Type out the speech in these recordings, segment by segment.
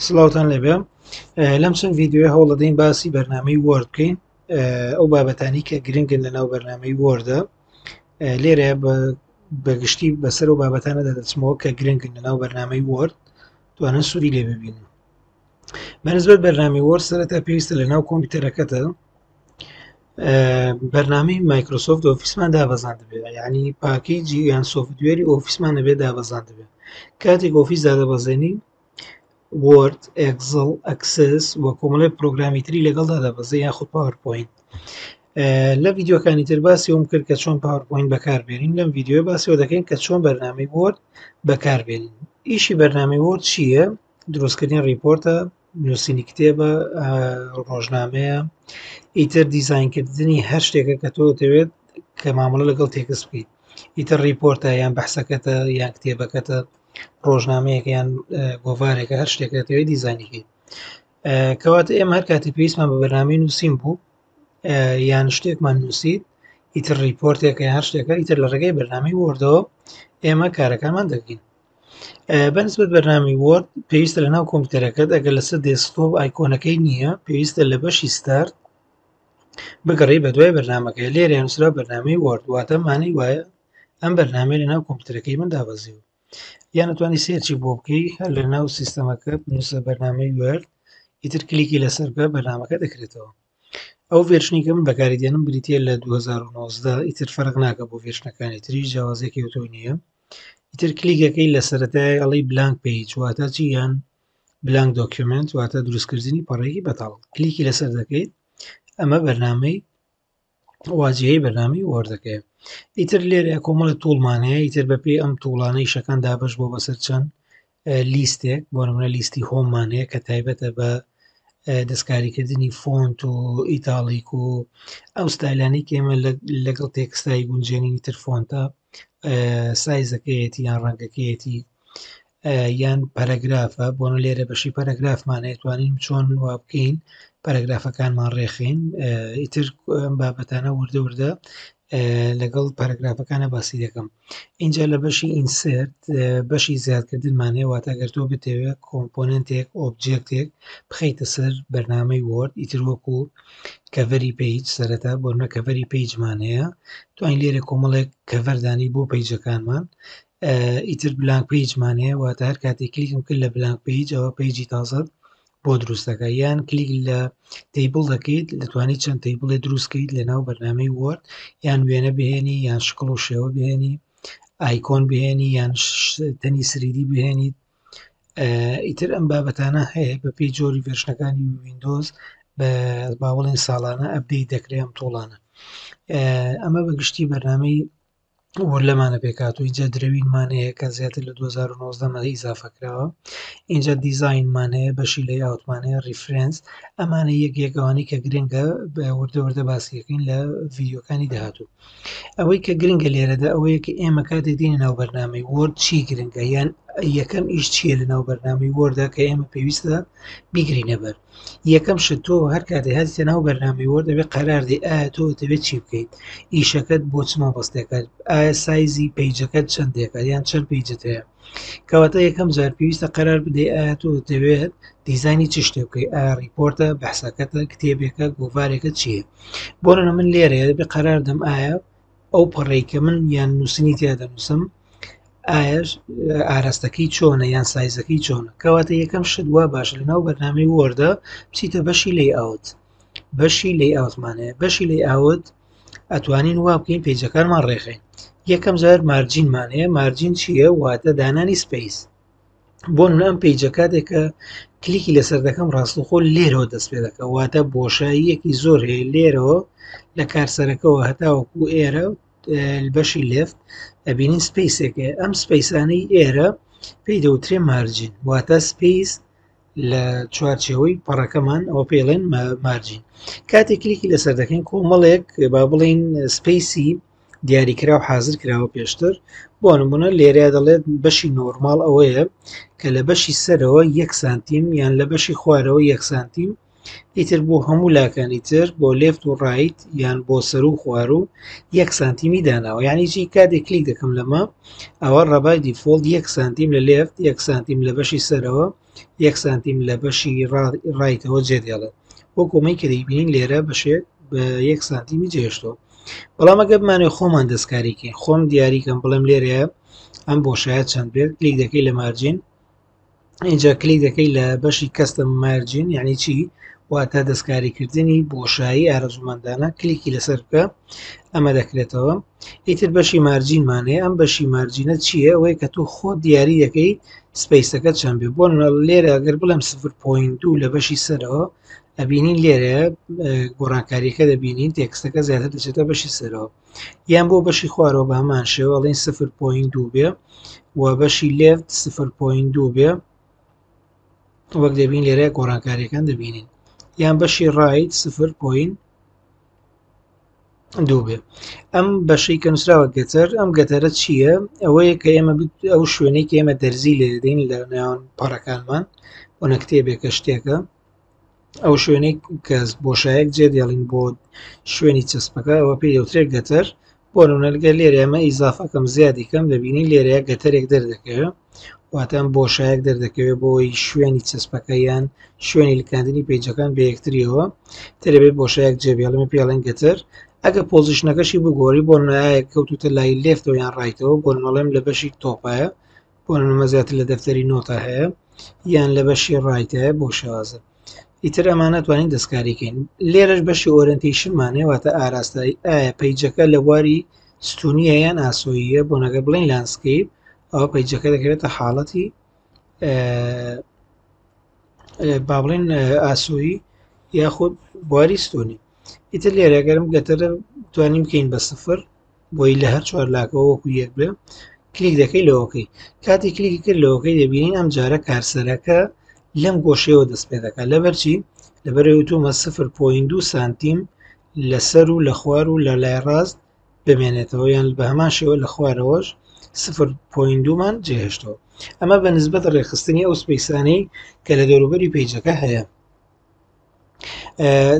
سڵاوتان لێبێ. لەم چەند ڤیدیۆیە هەوڵدەین باسی بەرنامەی Word بکەین، ئەو بابەتانی کە گرنگن لە ناو بەرنامەی Word ە. لێرە بەگشتی بەسەر و بابەتانەدا دەچمەوە کە گرنگن لە ناو بەرنامەی Word، توانن سوودی لێ ببینن. بەنسبەت بەرنامەی Word سەرەتا پێویستە لە ناو کۆمپیوتەرەکەتە بەرنامەی Microsoft Office مان دابەزاندبێ، یعنی package ی یان software ی Office مان نەبێ دابەزاندبێ. کاتێک Office دادەبەزێنی Word، Excel، Access و کۆمەڵی پرۆگرامی تری لەگەڵدا دەبەزێ یاخود PowerPoint. لە ڤیدیۆکانی تر باسی ئەوم کرد کە چۆن PowerPoint بەکاربێنین. لەم ڤیدیۆ باسیەوە دەکەین کە چۆن بەرنامەی Word بەکاربێنین. ئیشی بەرنامەی Word چییە؟ دروستکردنی report ە، نووسینی کتێبە، ڕۆژنامەیە، ئیتر دیزاینکردنی هەر شتێکە کە تۆ دەوێت کە مامەڵە لەگەڵ text بکەیت. ئیتر report ە یان بەحسەکەتە یان کتێبەکەتە، ڕۆژنامەیەک یان گۆڤارێکە، هەر شتێکە دەوێت دیزاینیکەیت. کەواتە ئێمە هەر کاتی پێویستمان بە بەرنامەی نووسین بوو یان شتێکمان نووسیت، ئیتر report ێکە یان هەر شتێکە، ئیتر لە ڕێگەی بەرنامەی Word ەوە ئێمە کارەکانمان دەکەین. بەنسبەت بەرنامەی Word پێویستە لە ناو کۆمپیوتەرەکەت ئەگەر لەسەر desktop icon ەکەی نییە، پێویستە لە بەشی Start بگەڕی بە دوای بەرنامەکەی. لێرە نووسرا بەرنامەی Word، واتە مانەی وایە ئەم بەرنامەی لە ناو کۆمپیوتەرەکەی من دابەزیوە. یان ئەتوانی search ی بۆ بکەی هەر لە ناو سیستەمەکە بنووسە بەرنامەی Word، ئیتر کلیکی لەسەر بکە بەرنامەکە دەکرێتەوە. ئەو version ی کە من بەکاری دێنم بریتە لە 2019، ئیتر فەرق ناکە بۆ version ەکانی تریش، جیاوازێکی تۆ نییە. ئیتر کلیکەکەی لە سەرەتای ئەڵی blank page، واتە چی؟ یان blank document، واتە دروستکردنی پەڕێکی بەتاڵ. کلیکی لەسەر دەکەیت، ئەمە بەرنامەی واجهەی بەرنامەی Word ەکەیە. ئیتر لێرە کۆمەڵی tool مان هەیە، ئیتر بەپێی ئەم tool انە ئیشەکان دابەش بۆ بەسەر چەند لیستێک. بۆ نمونە لیستی Home مان هەیە کە تایبەتە بە دەستکاریکردنی font و italic و ئەو ستایلانی کە ئێمە لەگەڵ text ای گونجێنینی تر font ە size ەکەیەتی یان ڕەنگەکەیەتی یان paragraph ە. بۆنە لێرە بەشی paragraph مان هەیە، توانین چۆن وا بکەین paragraph ەکانمان ڕێخین. ئیتر ئەم بابەتانە وردە وردە لەگەڵ paragraph ەکانە باسی دەکەم. اینجا لە بەشی Insert بەشی زیادکردنمان هەیە، واتە گەر تۆ بتەوێت component ێک object ێک بخەیتە سەر بەرنامەی Word، ئیتر وەکو cover ی page، سەرەتا بۆنە cover ی page مان هەیە، توانین لێرە کۆمەڵێک cover دانی بۆ page ەکانمان. ئیتر blank page مان هەیە، واتە هەر کاتێک کلیکم کرد لە blank page ئەوە page ی تازە بۆ دروست دەکات. یان کلیک لە table دەکەیت، دەتوانیت چەند table ێ دروست کەیت لە ناو بەرنامەی Word، یان وێنە بهێنی یان شکڵ و شێوە بهێنی، icon بهێنی یان تەنی 3D بهێنیت. ئیتر ئەم بابەتانە هەیە بە پێی جۆری version ەکانی Windows بە باوەڵین ساڵانە update دەکرێت ئەم tool انە. ئەمە بە گشتی بەرنامەی Word لەمانە پێکاتوو. اینجا drawing مان هەیە کە زیاتر لە 2019 مە ئیزافە کراوە. اینجا دیزاینمان هەیە، بەشی layout مان هەیە، reference. ئەمانە یەک یەکەوانی کە گرنگە وردە وردە باسیەکەین لە ڤیدیۆکانی داهاتوو. ئەوەی کە گرنگە لێرەدا ئەوەیە کە ئێمە کاتێک دێینە ناو بەرنامەی Word چی گرنگە، یان یەکەم ئیش چییە لە ناو بەرنامەی Word ا کە ئێمە پێویستە بیگرینە بەر. یەکەم شت تۆ هەر کاتێ هاتیتە ناو بەرنامەی Word دەبێت قەرار دەی ئایا تۆ دەبێت چی بکەیت، ئیشەکەت بۆ چ مەبەستێکە، ئایا size ی page ەکەت چەندێکە یان چەند page ت هەیە. کەواتە یەکەم جار پێویستە قەرار بدەی ئایا تۆ دەوێت دیزانی چ شتێک بکەیت، ئایا report ە، بەحسەکەتە، کتێبێکە، گۆڤارێکە، چییە. بۆ نمونە من لێرەیە دەبێت قەرار دەم ئایا ئەو پەڕەی کە من یان نووسینی تیا دەنووسم ئایا ئاراستەکەی چۆنە یان size ەکەی چۆنە. کەواتە یەکەم شت وا باشە لە ناو بەرنامەی Word ە بچیتە بەشی layout. بەشی layout مان هەیە. بەشی layout ئەتوانین وا بکەین page ەکانمان ڕێخین. یەکەم جار margin مان هەیە. margin چییە؟ واتە دانانی space. بۆ نمونە ئەم page ە کاتێک کە کلیکی لەسەر دەکەم ڕاستەوخۆ لێرەوە دەست پێ دەکە، واتە بۆشاییەکی زۆر هەیە لێرەوە لە cursor ەکەوە هەتاوەکو ئێرە بەشی left ئەبینین space ێک هەیە. ئەم space انەی ئێرە پێی دەوترێ margin، واتە space لە چوارچێوەی پەڕەکەمان ئەوە پێڵێن margin. کاتێک کلیکی لەسەر دەکەین کۆمەڵێک با بڵین space ی دیاریکراو حاضر کراوە پێشتر. بۆ نمونە لێرە دەڵێت بەشی normal ئەوەیە کە لە بەشی سەرەوە یەک سانتیم یان لە بەشی خوارەوە یەک سانتیم. ئیتر بۆ هەموو لاکانی تر بۆ left و right یان بۆ سەر و خوار و یەک سانتیمی داناوە یعنی چی کاتێک کلیک دەکەم لەمە ئەوە ڕەبای default یەک سانتیم لە left یەک سانتیم لە بەشی سەرەوە یەک سانتیم لە بەشی right ەوە جێدێڵێت وەکو ئەمەی کە دەیبینین لێرە بەشێک بە یەک سانتیمی جێشتەوە بەڵام ئەگەر بمانێ خۆمان دەستکاریکەین خۆم دیاریکەم بڵێم لێرەیە ئەم بۆشایە چەند بێت کلیک دەکەی لە margin اینجا کلیک دەکەی لە بەشی custom margin یعنی چی واتە دەستکاریکردنی بۆشایی ئارەزومەندانە کلیکی لەسەر بکە ئەمە دەکرێتەوە ئیتر بەشی margin مان هەیە ئەم بەشی margin ە چییە ئەوەیە کە تۆ خۆت دیاری دەکەی space ەکە چەند بێ بۆ لێرە ئەگەر بڵێم 0.2 لە بەشی سەرەوە ئەبینین لێرە گۆڕانکاریەکە دەبینین text ەکە زیاتر دەچێتە بەشی سەرەوە یان بۆ بەشی خوارەوە بە هەمان شێوە ئەڵێن 0.2 بێ و بەشی left 0.2 بێ وەک دەبین لێرە گۆڕانکاریەکان دەبینین یان بەشی right 0. دوو بێ ئەم بەشەی کە نووسراوە gutter ئەم gutter ە چییە؟ ئەوەیە کە ئێمە ئەو شوێنەی کە ئێمە دەرزی لێ دەدەین لە نێوان پەڕەکانمان بۆ نە کتێبێکە شتێکە ئەو شوێنەی کە بۆشایەک جێ دێڵین بۆ شوێنی چەسپەکە ئەوە پێی دەوترێت gutter بۆ نمونە لێرە ئەمە ئیزافەکەم زیادی کەم دەبینی لێرەیە gutter ێک دەردەکەوێت واتە ئەم بۆشایەک دەردەکەوێت بۆی شوێنی چەسپەکە یان شوێنی لکاندنی page ەکان بە یەکتریەوە تەرەبێت بۆشایەک جێبێڵمە پێڵێن gutter ئەگە position ەکەشی بگۆری بۆ نایەک کەوتوتە لای left ەوە یان right ەوە بۆ نمەڵێم لە بەشی top ایە بۆ نمە زیاتر لە دەفتەری نۆتا هەیە یان لە بەشی right ەیە بۆ شێوازە ئیتر ئەمانە توانین دەستکاریکەین لێرەش بەشی orientation مان هەیە واتە ئاراستای ئایا page ەکە لە بواری ستونیە یان ئاسۆییە بۆ نەگە بڵین landscape ئەوە page ەکە دەکەوێتە حاڵەتی با بڵین ئاسۆیی یاخود بواری ستونی ئیتر لێرە گەرم gutter ە توانین بکەین بە سفر بۆی لە هەر چوار لاکەوە وەکو یەک بێ کلیک دەکەی لە OK کاتی کلیکی کرد لە OK دەبینین ئەم جارە cursor ەکە لەم گۆشەیەوە دەست پێ دەکات لەبەرچی لەبەرەوەی تومە 0.2 سانتیم لەسەر و لە خوار و لە لای ڕاست بمێنێتەوە یان بە هەمان شێوە لە خوارەوەش 0.2 مان جێهێشتەوە ئەمە بە نسبەت ڕێکخستنی ئەو space انەی کە لە دەوروبەری page ەکە هەیە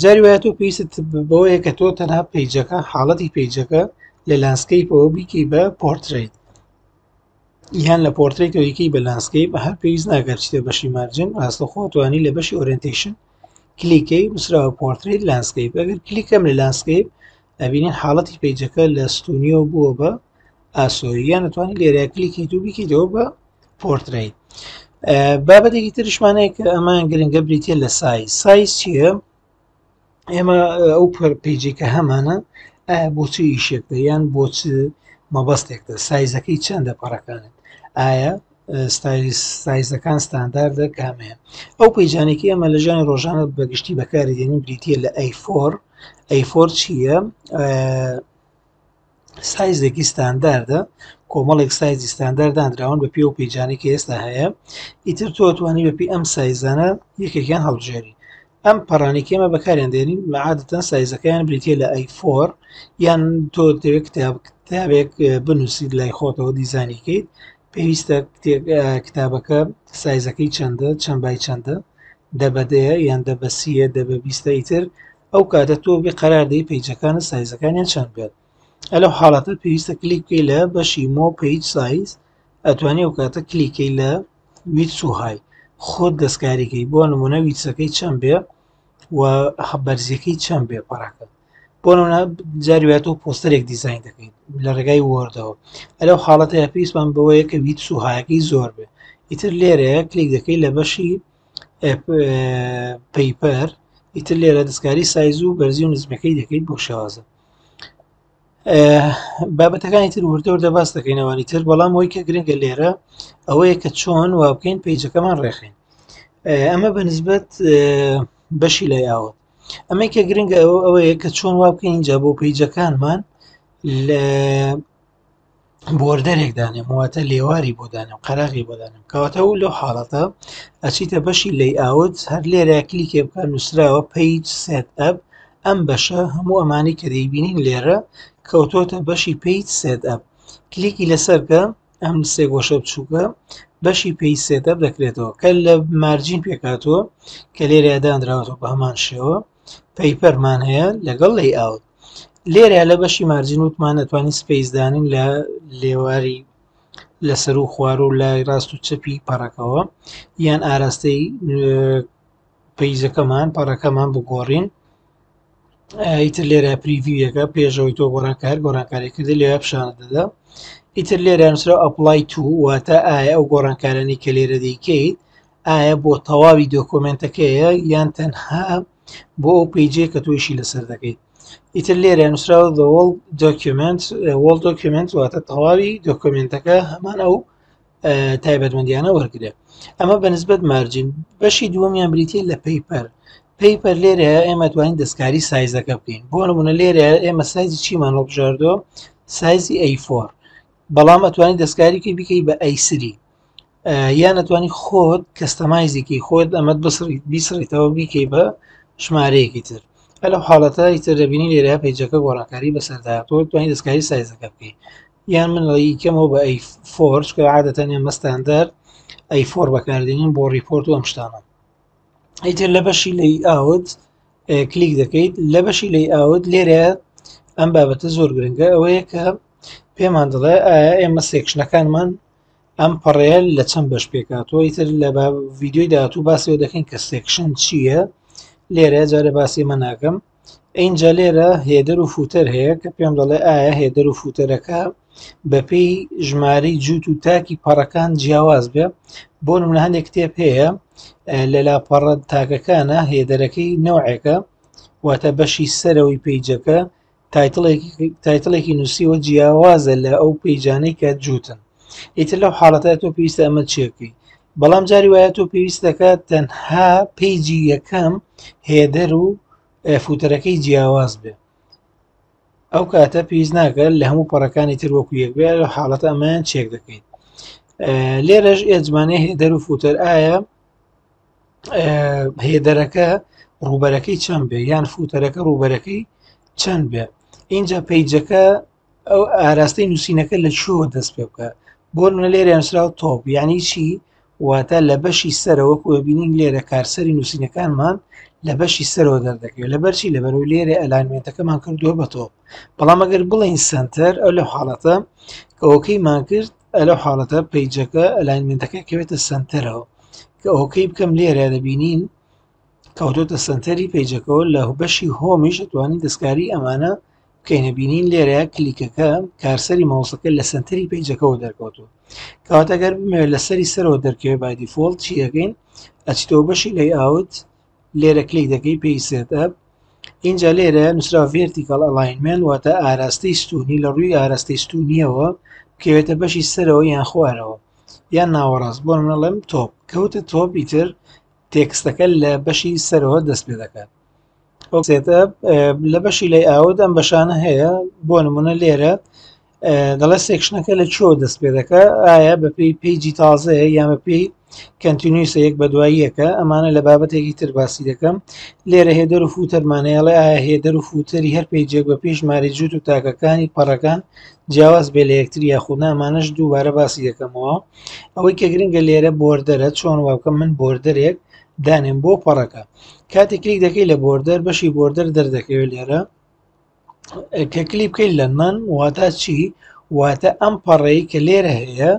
جاری وایە تۆ پێویستت بەوەیە کە تۆ تەنها page ەکە حاڵەتی page ەکە لە landscape ەوە بیکەی بە پۆرتریت یان لە پۆرتریتەوە یکەی بە landscape هەر پێویست ناکات بچیتە بەشی margin ڕاستەخۆ توانی لە بەشی orientation کلیکەی نووسراوە portrait landscape ئەگەر کلیکەم لە landscape ئەبینین حاڵەتی page ەکە لە ستونیەوە بووە بە ئاسۆیی یان ئەتوانی لێرە کلیکی تو بیکەیتەوە بە پۆرتریت بابەتێکی ترشمانەیە کە ئەمان گرنگە بریتە لە size size چییە؟ ئێمە ئەو page ی کە هەمانە بۆچی ئیشێکە یان بۆچ مەبەستێکە size ەکەی چەندە پەڕەکانت ئایا size ەکان ستانداردە کامەیە ئەو page انێکی ئێمە لە ژیانی ڕۆژانە بەگشتی بەکاری دێنین بریتە لە A4 A4 چییە؟ size ێکی ستانداردە کۆمەڵێک size ی ستاندارد دانراون بە پێ و page انەی کە ئێستا هەیە ئیتر تۆ توانی بەپی ئەم size انە یەکێکیان هەڵبژێری ئەم پەڕانی کێمە بەکاریان دێنین عادەتەن size ەکەیان بریتە لە A4 یان تۆ دەوێت کتاب کتابێک بنووسیت لای خۆتەوە دیزانی کەیت پێویستە کتابەکە size ەکەی چەندە چەند بای چەندە دەبەدەیە یان دەبەسیە دەبە بیستە ئیتر ئەو کاتە تۆ بێ قەرار دەی page ەکانت size ەکانیان چەند بێت ئەلەو حاڵەتە پێویستە کلیک بکەی لە بەشی more page size ئەتوانی ئەو کاتە کلیکەی لە width و height خۆت دەستکاریکەی بۆ نمونە width ەکەی چەند بێ و بەرزیەکەی چەند بێ پەڕەکە بۆ نمونە جاری وایە تۆ پۆستەرێک دیزین دەکەیت لە ڕێگای Word ەوە ئەلەو حاڵەتەیە پێویستمان بەوەیە کە width و height ەکەی زۆر بێ ئیتر لێرەیە کلیک دەکەی لە بەشی paper ئیتر لێرە دەستکاری size و بەرزی و نزمەکەی دەکەیت بۆ شێوازە بابەتەکانی تر وردە وردە باس دەکەینەوانی تر بەڵام ئەوی کە گرنگە لێرە ئەوەیە کە چۆن وا بکەین page ەکەمان ڕێخین ئەمە بە نسبەت بەشی layout ئەمەی کە گرنگە ئەوەیە کە چۆن وا بکەین جا بۆ page ەکانمان لە border ێک دانێم واتە لێواری بۆ دانێم قەراغی بۆ دانێم کەواتە و لەو حاڵەتە ئەچیتە بەشی layout هەر لێرە کلیکێ بکە نووسراوە page setup ئەم بەشە هەموو ئەمانی کە دەیبینین لێرە کەوتۆتە بەشی page setup کلیکی لەسەر کە. ئەم سێ گۆشە بچووکە بەشی page setup دەکرێتەوە کە لە margin پێکاتەوە کە لێرە دانراوەتەوە بە هەمان شێوە paper مان هەیە لەگەڵ layout. لێرە لە بەشی margin وتمان دەتوانین space دانین لە لێواری لەسەر و خوار و لای ڕاست و چەپی پەڕەکەوە یان ئاراستەی page ەکەمان پەڕەکەمان بگۆڕین. ئیتر لێرە preview ەکە پێشەوەی تۆ گۆڕانکار گۆڕانکاری کردی لێرە پیشانە دەدا. ئیتر لێرە نووسرا apply to، واتە ئایا ئەو گۆڕانکارانی کە لێرە دەیکەیت ئایا بۆ تەواوی document ەکەیە یان تەنها بۆ ئەو page ەیە کە تۆیشی لەسەر دەکەیت. ئیتر لێرە نووسراوە the whole document، whole document واتە تەواوی document ەکە هەمان ئەو تایبەتمەندیانە وەرگێ. ئەمە بەنسبەت margin. بەشی دووەمیان بریتە لە paper. paper لێرە ئێمە توانین دەستکاری size ەکە بکەین. بۆ نمونە لێرە ئێمە size ی چیمان هەڵبژاردۆ؟ size ی A4، بەڵام ئەتوانی دەستکاریکی بکەی بە A3، یان ئەتوانی خۆت customize ێکی خۆت ئەمەت بیسڕیتەوە بیکەی بە ژمارەیەکی تر. لەو حاڵەتە ئیتر دەبینی لێرە page ەکە گۆڕانکاری بەسەردا، تۆ توانی دەستکاری size ەکە بکەی. یان من یکەمەوە بە A4، چونکە عادەتەن ئێمە ستاندەر A4 بەکاردێنین بۆ report و ئەم شتانە. ئیتر لە بەشی layout کلیک دەکەیت. لە بەشی layout لێرە ئەم بابەتە زۆر گرنگە، ئەوەیە کە پێمان دەڵێ ئایا ئێمە section ەکانمان ئەم پەڕەیە لە چەند بەش پێکاتەوە. ئیتر لە ڤیدیۆی داهاتوو باسیەوە دەکەین کە section چییە، لێرە جارێ باسی ئەمە ناکەم. ئینجا لێرە header و footer هەیە کە پێم دەڵێ ئایا header و footer ەکە بەپێی ژمارەی جووت و تاکی پەڕەکان جیاواز بێ. بۆ نمونە هەندێک کتێب هەیە لە لاپەڕە تاکەکانە header ەکەی نەوعێکە، واتە بەشی سەرەوەی page ەکە title ێکی نووسیوە جیاوازە لە ئەو page انەی کە جووتن. ئیتر لەو حاڵەتە تۆ پێویستە ئەمە چێکەی، بەڵام جاری وایە تۆ پێویست دەکات تەنها page ی یەکەم header و footer ەکەی جیاواز بێ. ئەو کاتە پێویست ناکات لە هەموو پەڕەکانی تر وەکو یەک بێ، لەو حاڵەتە ئەمەیان check دەکەیت. لێرەش edge مانەیە header و footer، ئایا header ەکە ڕووبەرەکەی چەند بێ یان footer ەکە ڕووبەرەکەی چەند بێ. اینجا page ەکە ئەو ئاراستەی نووسینەکە لە کوێوە دەست پێ بکە. بۆ نمونە لێرە نووسراوە top، یعنی چی؟ واتە لە بەشی سەرەوە وەکو بینین لێرە cursor ی نووسینەکانمان لە بەشی سەرەوە دەردەکەوێت. لەبەرچی؟ لەبەرەوەی لێرە alignment ەکەمان کردووە بە top. بەڵام ئەگەر بڵێین center، ئەو لەو حاڵەتە کە OK مان کرد، لەو حاڵەتە page ەکە alignment ەکە کەوێتە center ەوە. کە OK بکەم لێرە دەبینین کەوتۆتە center ی page ەکەوە. لە بەشی home یش دەتوانین دەستکاری ئەمانە بکەینە. بینین لێرە کلیکەکە cursor ی ماوسەکە لە center ی page ەکەوە دەرکەوتووە. کەواتە گەر بمەوێت لەسەری سەرەوە دەرکەوێت by default چی دەکەین؟ ئەچیتەوە بەشی layout، لێرە کلیک دەکەی page setup. اینجا لێرە نووسرا vertical alignment، واتە ئاراستەی ستونی لە ڕووی ئاراستەی ستونیەوە بکەوێتە بەشی سەرەوە یان خوارەوە یان ناوەڕاست. بۆ نمونە ئەڵێم top، کەوتە top، ئیتر text ەکە لە بەشی سەرەوە دەست پێ دەکات. setup لە بەشی layout ئەم بەشانە هەیە. بۆ نمونە لێرە دەڵێ section ەکە لە کوێوە دەست پێ دەکا، ئایا بەپێی page ی تازەیە یان بەپێی continuous ە یەک بە دوای یەکە. ئەمانە لە بابەتێکی تر باسی دەکەم. لێرە header و footer مانەیەڵێ ئایا header و footer ی هەر page ێک بە پێی ژمارەی جووت و تاکەکانی پەڕەکان جیاواز بێ لە یەکتر یاخود نا، ئەمانەش دووبارە باسی دەکەمەوە. ئەوەی کە گرنگە لێرە border ە، چۆن وا بکەم من border ێک دانێم بۆ پەڕەکە. کاتێک کلیک دەکەی لە border، بەشی border دەردەکەوێت لێرە. کە کلیک بکەیت لە none واتە چی؟ واتە ئەم پەڕەی کە لێرە هەیە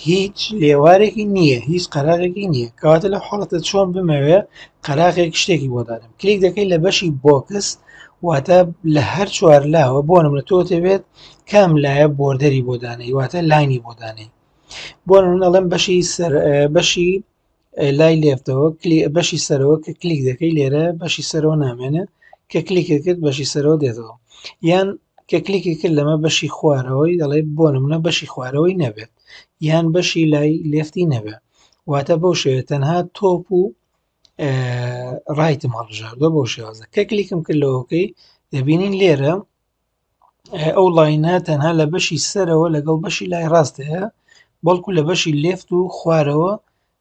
هیچ لێوارێکی نییە، هیچ قەراغێکی نییە. کەواتە لەو حاڵەتە چۆن بمەوێ قەراغێک شتێکی بۆ دانێم؟ کلیک دەکەیت لە بەشی box، واتە لە هەر چوار لاوە. بۆ نمونە تۆ دەبێت کام لایە border ی بۆ دانێی، واتە line ی بۆ دانێی. بۆ نمونە ئەڵێم بەشی سەر، بەشی لای left ەوە، بەشی سەرەوە کە کلیک دەکەی لێرە بەشی سەرەوە نامێنێ، کە کلیکت کرد بەشی سەرەوە دێتەوە. یان کە کلیکی کرد لەمە بەشی خوارەوەی دەڵێ بۆ نمونە بەشی خوارەوەی نەبێت یان بەشی لای left ی نەبێت. واتە بەو شێوەیە تەنها top و right م هەڵبژاردووە بەو شێوازە. کە کلیکم کرد لە OK دەبینین لێرە ئەو line ە تەنها لە بەشی سەرەوە لەگەڵ بەشی لای ڕاست هەیە، بەڵکو لە بەشی left و خوارەوە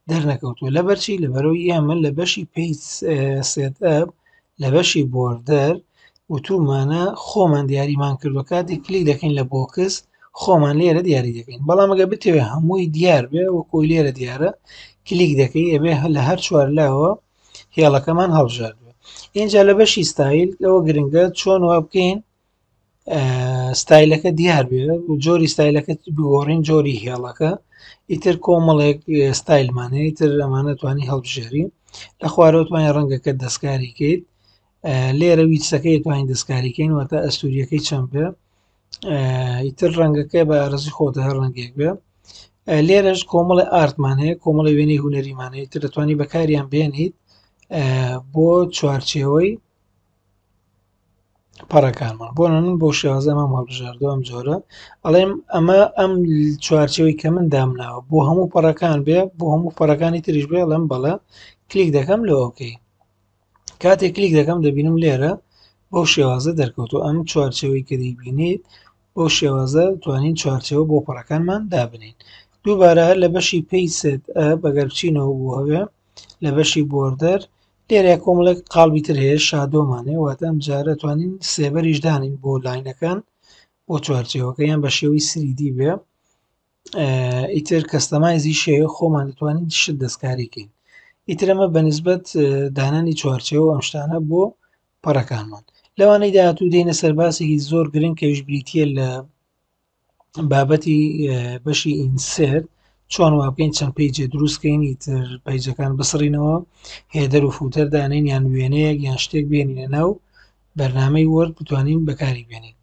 دەرنەکەوتووە. لەبەرچی؟ لەبەرەوەی ئێمە لە بەشی page setup لە بەشی border وتومانە خۆمان دیاریمان کردووە. کاتێک کلیک دەکەین لە box خۆمان لێرە دیاری دەکەین. بەڵام ئەگەر بتەوێت هەمووی دیار بێ وەکۆی لێرە دیارە کلیک دەکەی ئەبێ لە هەر چوار لاوە هێڵەکەمان هەڵبژاردوە. ئینجا لە بەشی ستایل ئەوە گرنگە چۆن وا بکەین ستایلەکە دیار بێ و جۆری ستایلەکە بگۆڕین جۆری هێڵەکە ئیتر کۆمەڵێک ستایلمان هەیە ئیتر ئەمانە توانی هەڵبژێری لە خوارەوە توانی ڕەنگەکە دەستکاری کەیت لێرە width ەکەی توانین دەستکاری کەین واتە ئەستوریەکەی چەند بێ ئیتر ڕەنگەکە بە ئارەزوی خۆتە هەر ڕەنگێک بێ لێرەش کۆمەڵی art مان هەیە کۆمەڵی وێنەی هونەریمان هەیە تر دەتوانی بەکاریان بێنیت بۆ چوارچێوەی پەڕەکانمان بۆ من بۆ شێوازە ئەمەم هەڵبژاردووە ئەم جۆرە ئەڵێم ئەمە ئەم چوارچەوەی کە من دامناوە بۆ هەموو پەڕەکان بێ بۆ هەموو پەڕەکانی تریش بێ ئەڵێم بەڵێ کلیک دەکەم لە OK کاتێک کلیک دەکەم دەبینم لێرە بەو شێوازە دەرکەوتو ئەم چوارچەوەی کە دەیبینیت بەو شێوازە توانین چوارچەوە بۆ پەڕەکانمان دابنین دووبارە هەر لە بەشی page setup ئەگەر بچینەوە بۆ هەوێ لە بەشی border لێرە کۆمەڵێک قاڵبی تر هەیە shadow مان هەیە واتە ئەم جارە توانین سێبەریش دانین بۆ line ەکان بۆ چوارچێوەکە یان بە شێوەی 3D بێ ئیتر customize یش هەیە خۆمان دەتوانین شت دەستکاری کەین ئیتر ئەمە بەنسبەت دانانی چوارچێوە ئەم شتانە بۆ پەڕەکانمان لەوانەی داهاتوو دێنە سەرباسێکی زۆر گرنگ کەویش بریتە لە بابەتی بەشی insert چۆن وا بکەین چەند page ێ دروستکەین ئیتر page ەکان بسڕینەوە header و footer دانین یان وێنەیەک یان شتێک بێنینە ناو بەرنامەی Word بتوانین بەکاری بێنین.